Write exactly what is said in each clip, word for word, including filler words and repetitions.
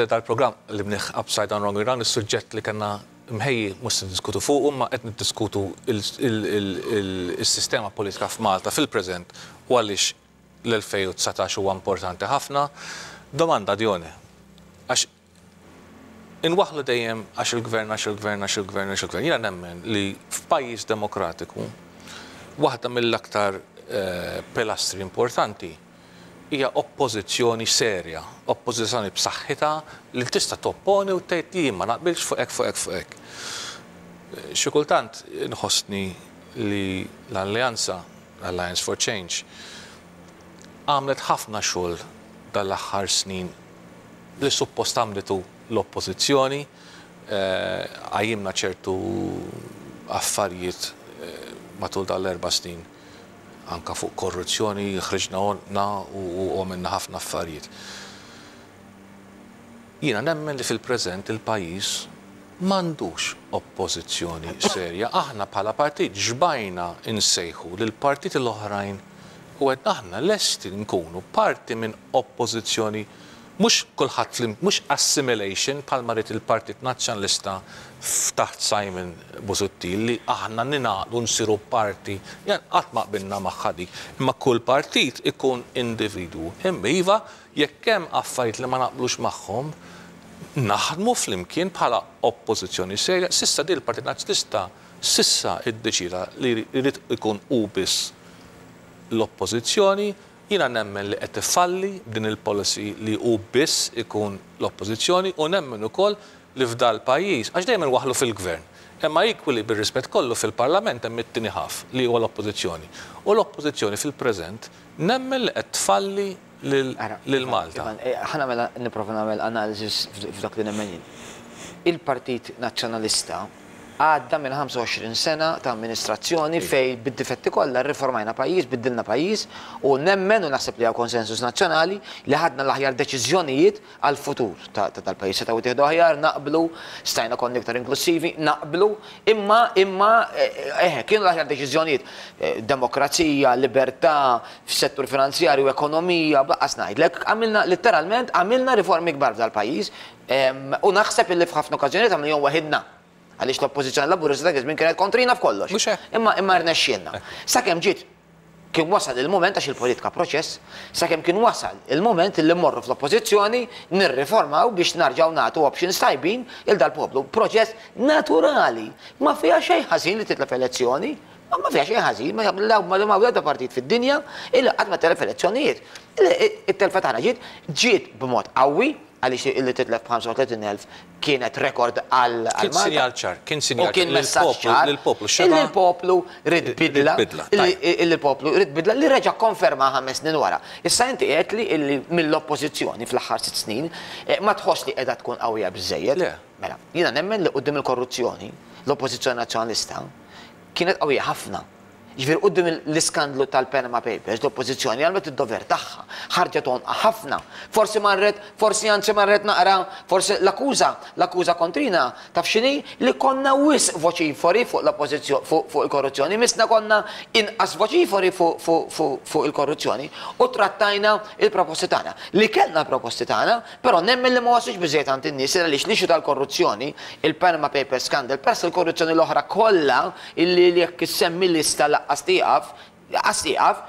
Ovvjament dal-programm li bnieh Upside Down Wrong Round, is-suġġett li kellna mħejji mhux se niddiskutu fuq, imma qed niddiskutu il-sistema politika f'Malta fil-preżent u għaliex l-elfejn u dsatax huwa importanti ħafna. Domanda, Dione, għax inwaħlu dejjem għax il-gvern, għax il-gvern, għax il-gvern, għax il-gvern. Jiena nemmen li f'pajjiż demokratiku waħda mill-aktar eh, pilastri importanti hija oppożizzjoni serja, oppożizzjoni b'saħħitha li tista' topponi u tgħid li ma naqbilx fuq hekk, fuq hekk, fuq hekk. Xi kultant nħossni li l-Alleanza, Alliance for Change, għamlet ħafna xogħol dal-aħħar snin li suppost għamlitu l-oppożizzjoni, eh, qajjimna ċertu affarijiet eh, matul dal-erba' snin anka fuq korruzzjoni, ħriġna għonqna u għamilna ħafna affarijiet. Jiena nemmen li fil-preżent il-pajjiż m'għandux oppożizzjoni serja. Aħna bħala partit xbajna insejħu lil partiti l-oħrajn u għedna aħna lesti nkunu parti minn oppożizzjoni, mhux kulħadd, mhux assimilation bħalma ried il-Partit Nazzjonalista taħt Simon Busuttil li aħna ningħaqdu nsiru parti, jan qatt ma qbilna magħha dik, imma kull partit ikun individwu. Imma iva, jekk hemm affarijiet li ma naqblux magħhom, naħdmu flimkien bħala oppożizzjoni serja. S'issa di l-Partit Nazzjonalista s'issa iddeċida li jrid ikun hu biss l-oppożizzjoni. Jiena nemmen li qed ifalli din il-policy li hu biss ikun l-oppożizzjoni u nemmen ukoll li f'dal pajjiż, għax dejjem waħlu fil-gvern, imma equally, bir-rispett kollu, fil-parlament hemm it-tieni ħaf li huwa l-oppożizzjoni. U l-oppożizzjoni fil-preżent nemmen li qed tfalli lil Malta. Eh, ħa nagħmel, nipprova nagħmel analiżi f'dak li nemmen jien. Il-Partit Nazzjonalista għadda minn ħamsa u għoxrin sena ta' amministrazzjoni fej bid-difetti kollha riformajna pajjiż, biddilna pajjiż u nemmen u naħseb li hawn konsensus nazzjonali li ħadna l-aħjar deċiżjonijiet għal-futur tal-pajjiż. Setgħu tieħdu aħjar, naqblu, stajna konna iktar inklusivi, naqblu, imma imma eh, kienu l-aħjar deċiżjonijiet. Eh, demokrazija, libertà, fis-settur finanzjarju, ekonomija, lanqas ngħidlek, għamilna letteralment għamilna riformi kbar f'dal-pajjiż u naħseb illi f'ħafna okkażjonijiet għamilhom waħidna għaliex l-oppożizzjoni Laburista dak iż-żmien kienet kontrina f'kollox. Imma imma rnexxielna. Sakemm ġiet kien wasal il-moment, għax il-politika proċess, sakemm kien wasal il-moment li mmorru fl-oppożizzjoni nirriformaw biex narġaw nagħtu options tajbin lil dal-poplu. Proċess naturali. Ma fiha xejn ħażin li titlef elezzjoni, ma fiha xejn ħażin, ma ma ma ma partit fid-dinja illi qatt ma telef elezzjonijiet. It-telfa tagħna ġiet ġiet b'mod qawwi, għaliex illi titlef b'ħamsa u tletin elf kienet rekord għal Kien sinjal ċar, kien sinjal U kien messaġġ ċar. Lill-poplu Illi l-poplu ried bidla. Illi l-poplu ried bidla li reġa' konferma ħames snin wara. Issa inti qed li illi mill-oppożizzjoni fl-aħħar sitt snin eh, ma tħoss li qiegħda tkun qawwija biżejjed. Mela, jiena nemmen li quddiem il-korruzzjoni l-oppożizzjoni nazzjonalista kienet qawwija ħafna. Ġifieri quddiem l-iskandlu tal-Panama Papers, l-oppożizzjoni għamlet id-dover tagħha, ħarġet għonqha ħafna. Forsi marret, forsi anzi marret naqra, forsi l-akkuża, l-akkuża kontrina taf x'inhi? Li konna wisq voċifori fuq l-oppożizzjoni, fuq il-korruzzjoni, missna konna inqas voċifori fuq il-korruzzjoni u trattajna il-proposti tagħna. Li kellna proposti tagħna, però nemmen li ma waslux biżejjed għand in-nies għaliex l-issue tal-korruzzjoni, il-Panama Papers scandal, peress il-korruzzjoni l-oħra kollha illi jekk issemmi lista lanqas tieqaf, lanqas tieqaf,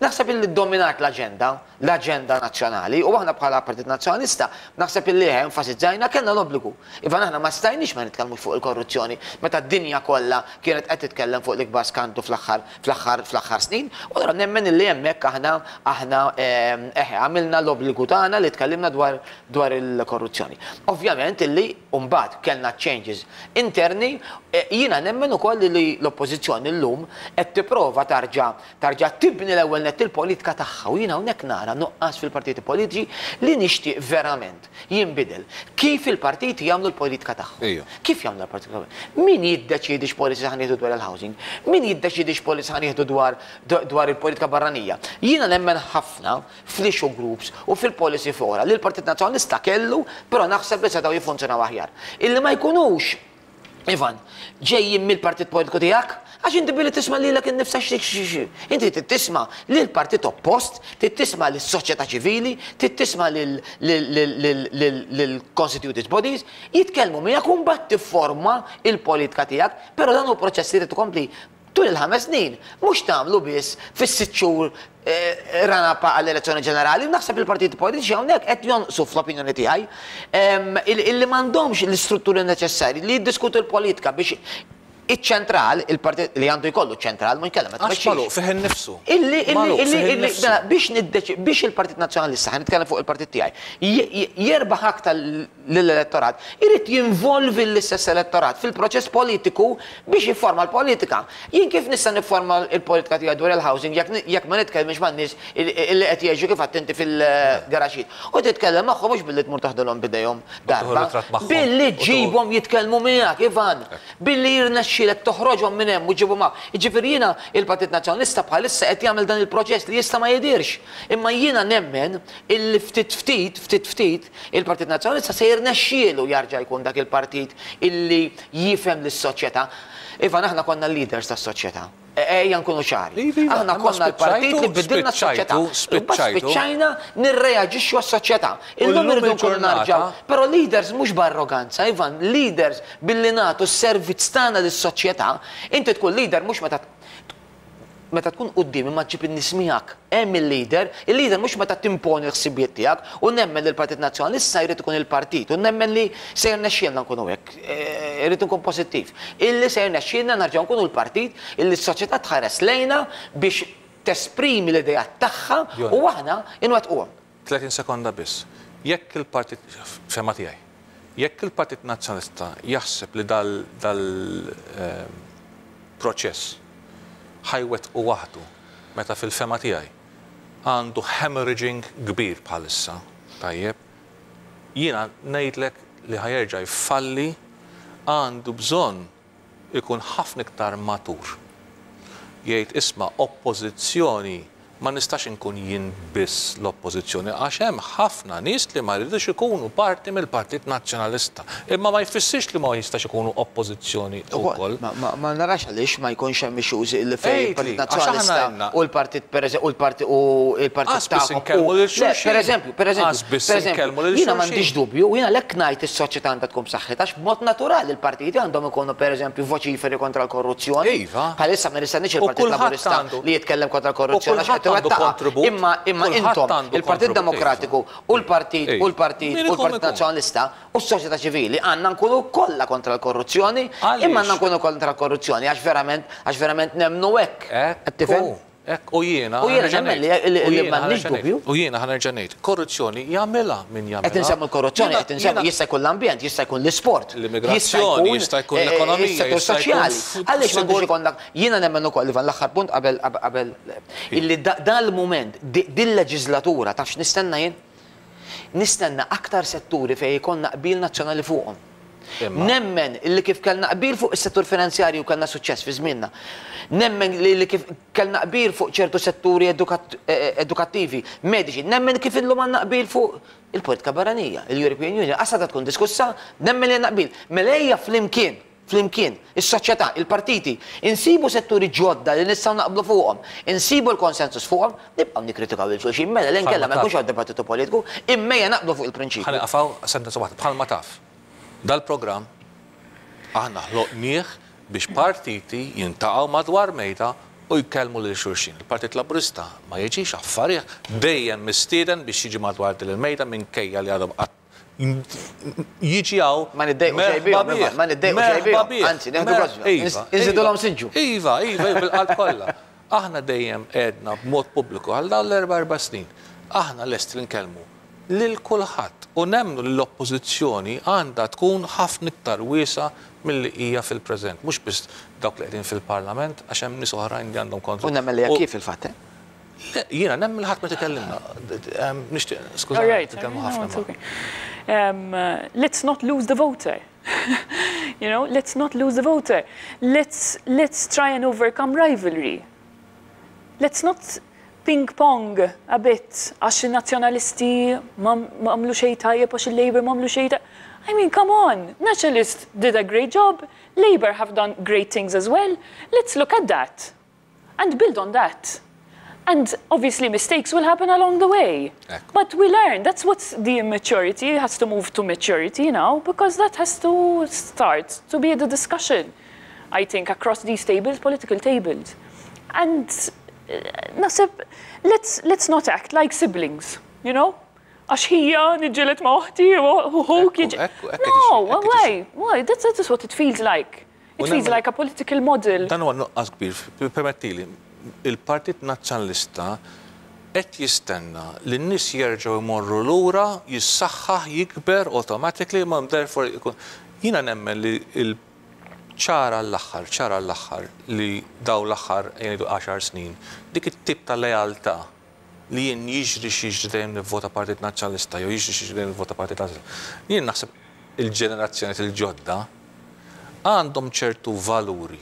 naħseb illi dominat l-agenda, l-agenda nazzjonali, u aħna bħala Partit Nazzjonalista, naħseb illi enfasizzajna kellna l-obbligu. Iva, aħna ma stajniex ma nitkellmux fuq il-korruzzjoni, meta d-dinja kollha kienet qed titkellem fuq l-ikbar skandlu fl-aħħar fl-aħħar fl-aħħar snin, u allura nemmen illi hemmhekk aħna aħna eħe għamilna l-obbligu tagħna li tkellimna dwar dwar il-korruzzjoni. Ovvjament illi mbagħad kellna changes interni, eh, jiena nemmen ukoll li l-oppożizzjoni llum qed tipprova tarġa' tarġa' tibni l-ewwel nett il-politika tagħha u jiena hawnhekk nara nuqqas fil-partiti politiċi li nixtieq verament jinbidel. Kif il-partiti jagħmlu l-politika tagħhom? Kif jagħmlu l-politika? Min jiddeċidi x'policy ħa nieħdu dwar il-housing? Min jiddeċidi x'policy ħa nieħdu dwar dwar il-politika barranija? Jiena nemmen ħafna fl-issue groups u fil-policy fora li l-Partit Nazzjonalista kellu, però naħseb li setgħu jiffunzjonaw aħjar. Illi ma jkunux Ivan, ġejjin mill-partit politiku tiegħek, għax inti billi tisma' lilek innifsek xi. Inti trid tisma' lill-partit oppost, trid tisma' lis-soċjetà ċivili, trid tisma' lill-constituted bodies, jitkellmu miegħek u mbagħad tifforma il-politika tiegħek, però dan hu proċess li trid tkompli tul il-ħames snin, mhux tagħmlu biss fis-sitt xhur run-up għall-elezzjoni ġenerali. Naħseb il-partiti politiċi hawnhekk qed jonqsu fl-opinjoni tiegħi illi m'għandhomx l-istrutturi neċessarji li jiddiskutu l-politika biex iċ-ċentral, il-partit li għandu jkollu ċentral, mhux kellem. Għax magħluq fih innifsu. Illi, illi, illi, illi, biex niddeċi, biex il-Partit Nazzjonalista, ħa nitkellem fuq il-partit tiegħi, jerbaħ aktar l-elettorat, irid jinvolvi l-istess elettorat fil-proċess politiku biex jifforma l-politika. Jien kif nista' nifforma l-politika tiegħi dwar il-housing jekk ma nitkellmx man-nies illi qed jgħixu kif attenti fil-garaxit? U titkellem magħhom mhux billi tmur taħdilhom bidejhom darba, billi ġibhom jitkellmu miegħek, Ivan, billi jirnexxi toħroġhom minn hemm u ġibu ma. Jiġifieri jiena il-Partit Nazzjonalista bħalissa qed jagħmel dan il-proċess li jista' ma jidirx. Imma jiena nemmen illi ftit ftit, ftit ftit, il-Partit Nazzjonalista se jirnexxielu jarġa' jkun dak il-partit illi jifhem lis-soċjetà. Ivan, aħna konna leaders tas-soċjetà. Ejja nkunu ċari. Aħna konna l-partit li bidilna s-soċjetà. Spiċċajna nirreaġixxu għas-soċjetà. Illum irridu nkunu narġgħu. Però leaders mhux b'arroganza, Ivan, leaders billi nagħtu s-servizz tagħna lis-soċjetà. Inti tkun leader mhux meta meta tkun quddiem imma ġib in-nies miegħek. Hemm il-leader, il-leader mhux meta timponi l-ħsibijiet tiegħek, u nemmen li l-Partit Nazzjonalista jrid ikun il-partit, u nemmen li se jirnexxielna nkunu hekk, irid nkun pożittiv. Illi se jirnexxielna nerġgħu nkunu l-partit illi s-soċjetà tħares lejna biex tesprimi l-idea tagħha u aħna inwettquhom. tletin sekonda biss. Jekk il-partit, fema tiegħi, jekk il-Partit Nazzjonalista jaħseb li dal-proċess ħajwet u waħdu, meta fil-fema tiegħi għandu hemorrhaging kbir bħalissa, tajjeb, jiena ngħidlek li ħajerġa' jfalli, għandu bżonn ikun ħafna iktar matur. Jgħid isma' oppożizzjoni ma nistax inkun jien biss l-oppożizzjoni, għax hemm ħafna nies li ma jridux ikunu parti mill-Partit Nazzjonalista. Imma ma jfissirx li ma jistax ikunu oppożizzjoni wkoll. Ma narax għaliex ma jkunx hemm issues li fejn il-Partit Nazzjonalista u l-Partit u l-Partit u l-Partit tagħhom. Per eżempju, per eżempju, jiena m'għandix dubju, jiena lek ngħid is-soċjetà għandha tkun b'saħħitha għax b'mod naturali l-partiti għandhom ikunu pereżempju voċiferi kontra l-korruzzjoni. Bħalissa ma nistenniex il-Partit Laburista li jitkellem kontra l-korruzzjoni għax qed Imma imma intom il-Partit Demokratiku u l-Partit u l-Partit u l-Partit Nazzjonalista u s-soċjetà ċivili għandna nkunu kollha kontra l-korruzzjoni, imma għandna nkunu kontra l-korruzzjoni għax verament għax verament nemmnu hekk. Qed tifhem? Hekk, u jiena U jiena nemmen li m'għandniex dubju. U jiena ħa nerġa' ngħid, korruzzjoni jagħmilha min jagħmilha. Qed insemmu l-korruzzjoni, qed insemmu jista' jkun l-ambjent, jista' jkun l-isport, l-immigrazzjoni, jista' jkun l-ekonomija, is-settur soċjali. Għaliex m'għandux ikollna jiena nemmen ukoll, Ivan, l-aħħar punt qabel qabel illi dan il-mument din leġislatura taf x'nistenna jien? Nistenna aktar setturi fejn jkollna qbil nazzjonali fuqhom. Nemmen illi kif kellna qbil fuq is-settur finanzjarju kellna suċċess fi żmienna. Nemmen li kif kellna qbil fuq ċertu setturi edukattivi, mediċi, nemmen kif illum għandna qbil fuq il-politika barranija, il-European Union, qasada tkun diskussa, nemmen li għandna qbil. Mela ejja flimkien, flimkien, is-soċjetà, il-partiti, insibu setturi ġodda li nistgħu naqblu fuqhom, insibu l-konsensus fuqhom, nibqgħu nikkritikaw lil xulxin, mela l inkella ma jkunx hawn dibattitu politiku, imma ejja naqblu fuq il-prinċipju. Ħa nieqaf sentenza waħda, bħalma taf. Dal-programm aħna ħloqnieh biex partiti jintaqgħu madwar mejda u jkellmu lil xulxin. Il-Partit Laburista ma jiġix affarih, dejjem mistieden biex jiġi madwar din il-mejda minkejja li għadhom qatt jiġi hawn. Ma niddejqu xejn bihom, ma niddejqu xejn bihom. Anzi, neħdu gost. Inżidulhom siġġu. Iva, iva, bil-qalb kollha. Aħna dejjem għedna b'mod pubbliku għal dawn l-erba' erba' snin. Aħna lesti li nkellmu lil kulħadd u nemmnu li l-oppożizzjoni għandha tkun ħafna iktar wiesa milli hija fil-preżent, mhux biss dawk li qegħdin fil-Parlament għax hemm nies oħrajn li għandhom kontra. U nemmen li hekk kif fil-fatt, eh? Le, jiena nemmen li ħadd ma tikellimna. Nixtieq, skużani, titkellmu ħafna. Um, let's not lose the voter. You know, let's not lose the voter. Let's, let's try and overcome rivalry. Let's not ping-pong a bit, għax il-nazjonalisti ma għamlu xejn tajjeb, għax il-Labour ma għamlu xejn tajjeb. I mean, come on. Nationalists did a great job. Labour have done great things as well. Let's look at that and build on that. And obviously mistakes will happen along the way. Ekku. But we learn. That's what's the immaturity has to move to maturity now, because that has to start to be the discussion, I think, across these tables, political tables. And uh, naħseb, let's, let's not act like siblings, you know? Għax ħija niġġieled ma' oħti, u ħuk Ekku, jiġi. ekku, ekku No, tiġi, ekku why? Why? That's, that's what it feels like. It U feels nemmen- like a political model. Dan huwa nuqqas kbir, permettili, il-Partit Nazzjonalista qed jistenna li n-nies jerġgħu jmorru lura, jissaħħaħ, jikber automatically, ma therefore ikun. Jiena nemmen li il ċara l-aħħar, ċara l-aħħar li daw l-aħħar jgħidu għaxar snin, dik it-tip ta' lealtà li jien jiġri x'jiġri dejjem nivvota Partit Nazzjonalista jew jiġri x'jiġri dejjem nivvota Partit Nazzjonalista. Jien naħseb il-ġenerazzjoni il-ġodda għandhom ċertu valuri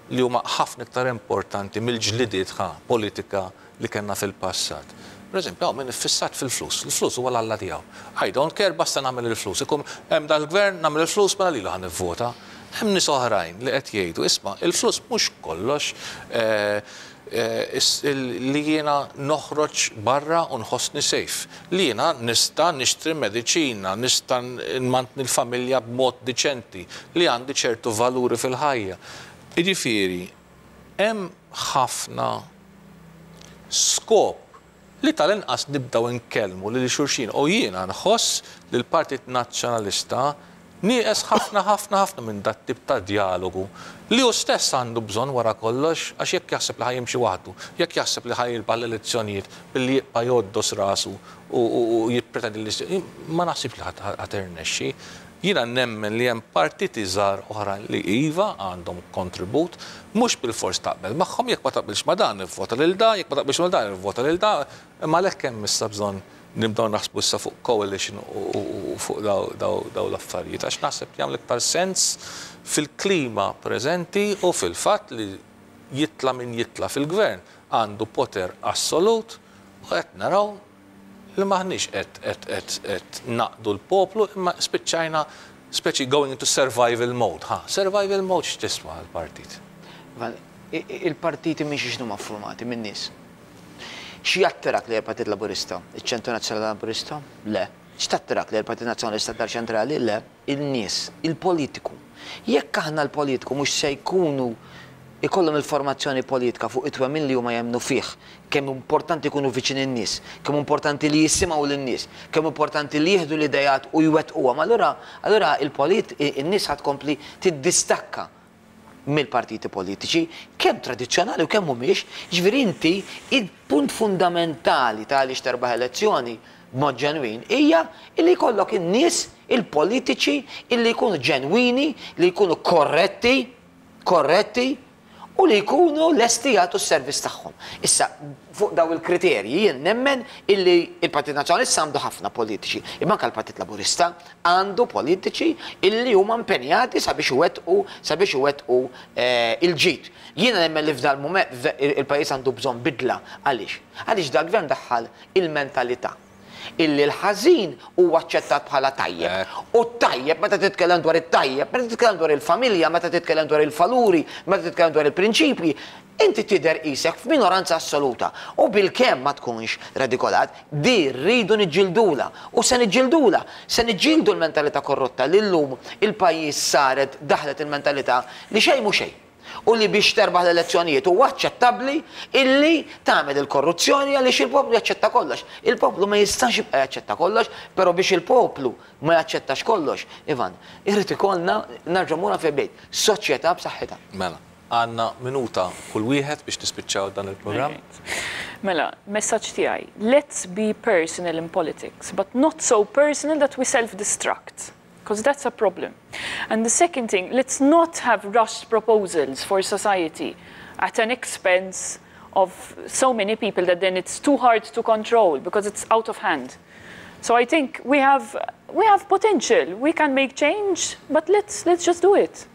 li huma ħafna iktar importanti mill-ġlidiet ħa politika li kellna fil-passat. Per eżempju, hawn min iffissat fil-flus, il-flus huwa l-alla tiegħu. I don't care, basta nagħmel il-flus. Ikum hemm dal-gvern nagħmel il-flus, mela lilu ħa nivvota. Hemm nies oħrajn li qed jgħidu, isma' il-flus mhux kollox, eh, eh, is- il- li jiena noħroġ barra u nħossni safe. Li jiena nista' nixtri mediċina, nista' nmantni l-familja b'mod diċenti, li għandi ċertu valuri fil-ħajja. Jiġifieri, hemm ħafna skop li tal-inqas nibdaw nkellmu lil xulxin u jiena nħoss li l-Partit Nazzjonalista nieqes ħafna ħafna ħafna minn dat tip ta' dialogu li hu stess għandu bżonn wara kollox, għax jekk jaħseb li ħa jimxi waħdu, jekk jaħseb li ħa jirbaħ l-elezzjonijiet billi jibqa' jgħoddos rasu u u jippretendi li ma naħsibx li ħa tirnexxi. Jiena nemmen li hemm partiti żgħar oħra li iva għandhom kontribut, mhux bil-fors taqbel magħhom, jekk ma taqbilx ma dan ivvota lil da, jekk ma taqbilx ma dan ivvota lil da, imma għalhekk hemm issa bżonn nibdew naħsbu issa fuq coalition u fuq daw l-affarijiet, għax naħseb li jagħmel iktar sens fil-klima preżenti u fil-fatt li jitla min jitla fil-gvern għandu poter assolut u qed naraw li maħniex qed qed qed qed naqdu l-poplu, imma spiċċajna speċi going into survival mode. Ha, survival mode x'tiswa l-partit? Il-partiti minn xiex huma formati minn nies. Xi jattirak li l-Partit Laburista? Iċ-Ċentru Nazzjonali Laburista? Le. X'tattirak li l-Partit Nazzjonalista dar ċentrali? Le. Il-nies, il-politiku. Jekk aħna l-politiku mhux se jkunu ikollhom il-formazzjoni politika fuq it-twemmin li huma jemmnu fih, kemm importanti jkunu viċin in-nies, kemm importanti li jisimgħu lin-nies, kemm importanti li jieħdu l-idejat u jwettquhom. Allura allura il-polit in-nies ħa tkompli tiddistakka mill-partiti politiċi, kemm tradizzjonali u kemm mhumiex. Ġifieri inti il-punt fundamentali ta' għaliex terbaħ elezzjoni b'mod ġenwin hija illi jkollok in-nies, il-politiċi illi jkunu ġenwini, li jkunu korretti, korretti u li jkunu lesti jagħtu s-servizz tagħhom. Issa, fuq daw il-kriterji jien nemmen illi il-Partit Nazzjonalista għandu ħafna politiċi, imma anke l-Partit Laburista għandu politiċi illi huma impenjati sabiex iwettqu sabiex iwettqu eh, il-ġid. Jiena nemmen li f'dal mument il-pajjiż għandu bżonn bidla. Għaliex? Għaliex dal-gvern daħħal il-mentalità illi l-ħażin huwa aċċettat bħala tajjeb. U tajjeb, meta titkellem dwar it-tajjeb, meta titkellem dwar il-familja, meta titkellem dwar il-valuri, meta titkellem dwar il-prinċipji, inti tidher qisek f'minoranza assoluta. U bil-kemm ma tkunx redikolat, di rridu niġġildula. U se niġġildula, se niġġildu l-mentalità korrotta li llum il-pajjiż saret daħlet il-mentalità li xejn mhu xejn. U li biex terbaħ l-elezzjonijiet huwa aċċettabbli illi tagħmel il-korruzzjoni għaliex il-poplu jaċċetta kollox. Il-poplu ma jistax jibqa' jaċċetta kollox, però biex il-poplu ma jaċċettax kollox, Ivan, irrid ikollna nerġa' mura fejn bejt, soċjetà b'saħħitha. Mela, għandna minuta kull wieħed biex nispiċċaw dan il-programm. Mela, messaġġ tiegħi. Let's be personal in politics, but not so personal that we self-destruct, because that's a problem. And the second thing, let's not have rushed proposals for society at an expense of so many people that then it's too hard to control because it's out of hand. So I think we have, we have potential, we can make change, but let's, let's just do it.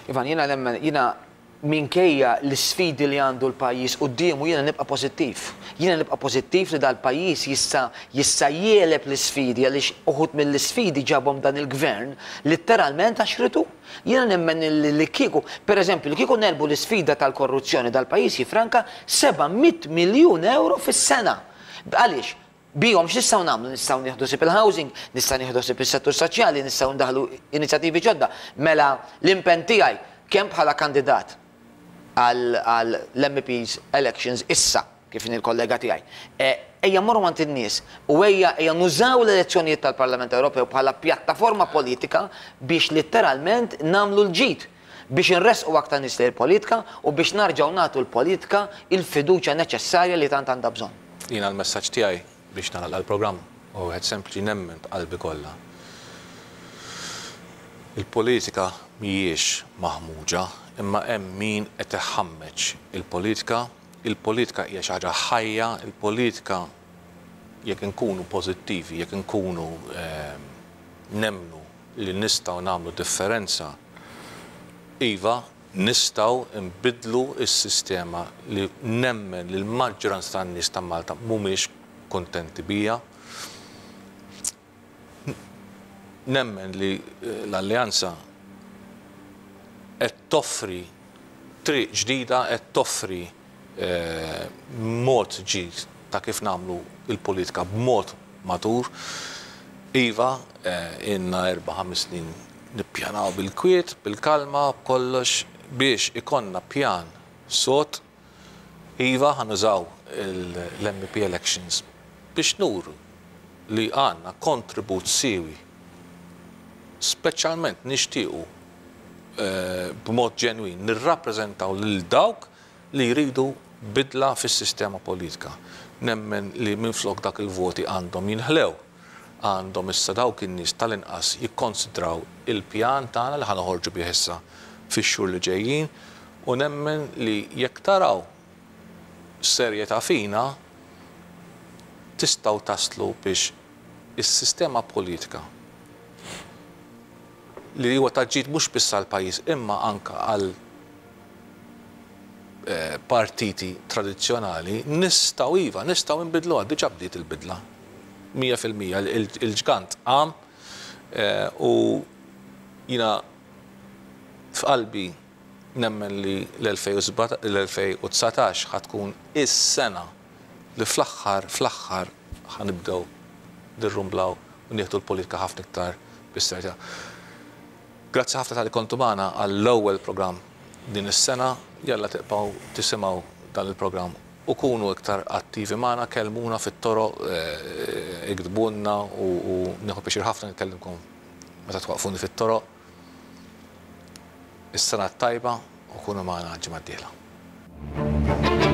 Ivan, jiena nemmen, jiena Minkejja l-sfidi li għandu l-pajjiż quddiemu, jiena nibqa' pożittiv. Jiena nibqa' pożittiv li dal-pajjiż jista' jista' jegħleb l-sfidi, għaliex uħud mill-sfidi ġabhom dan il-gvern letteralment għax ridu. Jiena nemmen li kieku, per eżempju, li kieku negħlbu l-sfida tal-korruzzjoni, dal-pajjiż jifranka seba' mitt miljun euro fis-sena. Għaliex? Bihom x'nistgħu nagħmlu? Nistgħu nieħdu ħsieb il-housing, nistgħu nieħdu ħsieb is-settur soċjali, nistgħu ndaħlu inizjattivi ġodda. Mela l-impenn tiegħi kemm bħala kandidat għal l-M Ps elections issa, kif il-kollega tiegħi, E, ejja morru għand in-nies u ejja ejja nużaw l-elezzjonijiet tal-Parlament Ewropew bħala pjattaforma politika biex letteralment nagħmlu l-ġid, biex nresqu aktar nies lejn politika u biex nerġgħu nagħtu l-politika il-fiduċja neċessarja li tant għandha bżonn. Jiena l-messaġġ tiegħi biex nagħlaq l-programm u wieħed sempliċi: nemmen b'qalbi kollha. Il-politika mhijiex maħmuġa, imma hemm min qed iħammeġ il-politika. Il-politika hija xi ħaġa ħajja, il-politika, jekk inkunu pożittivi, jekk inkunu ehm, nemnu li nistgħu nagħmlu differenza, iva, nistgħu nbidlu s-sistema li nemmen li l-maġġoranza tan-nies ta' Malta mhumiex kontenti biha. Nemmen li eh, l-Alleanza qed toffri triq ġdida, qed toffri eh, mod ġdid ta' kif nagħmlu il-politika b'mod matur. Iva, eh, ilna erba' ħames snin nippjanaw bil-kwiet, bil-kalma, b'kollox biex ikollna pjan sod. Iva, ħa nużaw l-M P elections biex nuru li għandna kontribut siewi, speċjalment nixtiequ eh, b'mod ġenwin nirrappreżentaw lil dawk li jridu bidla fis-sistema politika. Nemmen li minflok dak il-voti għandhom jinħlew, għandhom issa dawk in-nies tal-inqas jikkonsidraw il-pjan tagħna li ħa noħorġu bih issa fix-xhur li ġejjin u nemmen li jekk taraw serjetà fina, tistgħu taslu biex is-sistema politika li huwa ta' ġid mhux biss għall-pajjiż imma anka għal eh, partiti tradizzjonali, nistgħu, iva, nistgħu nbidlu. Diġà bdiet il-bidla. mija fil-mija il-ġgant qam eh, u jiena f'qalbi nemmen li l-elfejn u dsatax ħa tkun is-sena li fl-aħħar fl-aħħar ħa nibdew nirrumblaw u nieħdu l-politika ħafna iktar bis-serjetà. Grazzi ħafna talli kontu magħna għall-ewwel programm din is-sena. Jalla tibqgħu tisimgħu dan il-programm u kunu iktar attivi magħna, kellmuna fit-toroq, eh, iktbulna u u nieħu pjaċir ħafna nkellimkom meta twaqfuni fit-toroq. Is-sena tajba u kunu magħna ġimgħa d-dieħla.